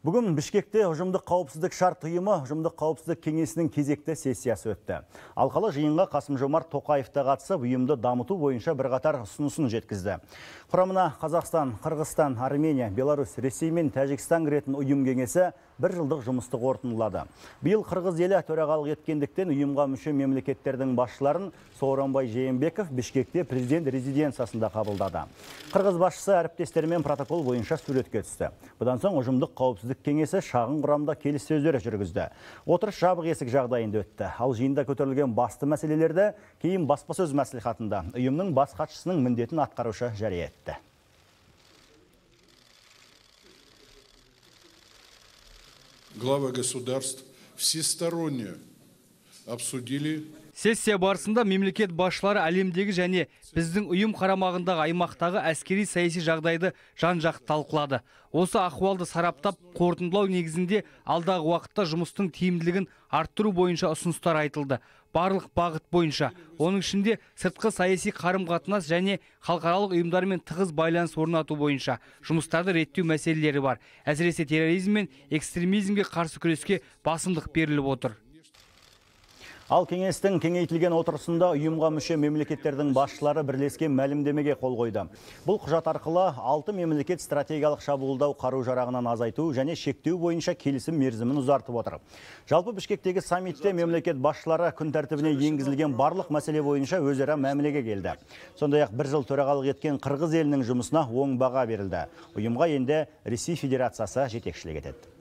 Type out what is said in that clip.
Бүгін Бішкекте ұжымдық қауіпсіздік шарт ұйымы ұжымдық қауіпсіздік кеңесінің кезекті сессиясы өтті. Алқалы жиынға Қасым-Жомарт Тоқаев та қатысып, ұйымды дамыту бойынша бірқатар ұсынысын жеткізді. Құрамына Қазақстан, Қырғызстан, Армения, Беларусь, Ресей мен Тәжікстан кіретін ұйым кеңесі бір жылдық жұмысты қорытындылады. Биыл Қырғыз елі төрағалық еткендіктен ұйымға мүше мемлекеттердің басшыларын Сооронбай Жээнбеков Бішкекте президент резиденциясында қабылдады. Қырғыз басшысы әріптестерімен протокол бойынша суретке түсті. Бұдан соң ұжымдық қауіпсіздік кеңесі шағын құрамда келіссөздер жүргізді. Отырыс жабық есік жағдайында өтті. Ал жиында көтерілген басты мәселелерді кейін баспасөз мәслихатында ұйымның бас хатшысының міндетін атқарушы жария етті. Главы государств всесторонне обсудили. Сессия барысында мемлекет басшылары әлемдегі және біздің ұйым қарамағындағы аймақтағы әскери саяси жағдайды жан-жақты талқылады. Осы ахуалды сараптап, қорытындылау негізінде алдағы уақытта жұмыстың тиімділігін арттыру бойынша ұсыныстар айтылды. Барлық бағыт бойынша, оның ішінде сыртқы саяси қарым-қатынас және халықаралық ұйымдармен тығыз байланыс орнату бойынша жұмыстарды реттеу мәселелері бар. Әсіресе терроризм мен экстремизмге қарсы күреске басымдық беріліп отыр. Ал кеңестің кеңейтілген отырысында ұйымға мүше мемлекеттердің басшылары бірлескен мәлімдемеге қол қойды. Бұл құжат арқылы 6 мемлекет стратегиялық шабуылдау қару-жарағынан азайту және шектеу бойынша келісім мерзімін ұзартып отыр. Жалпы Бішкектегі саммитте мемлекет басшылары күн тәртібіне енгізілген барлық мәселе бойынша өзара мәмілеге келді. Сондай-ақ бір жыл төрағалық еткен Қырғыз елінің жұмысына оң баға берілді. Ұйымға енді Ресей Федерациясы жетекшілік етеді.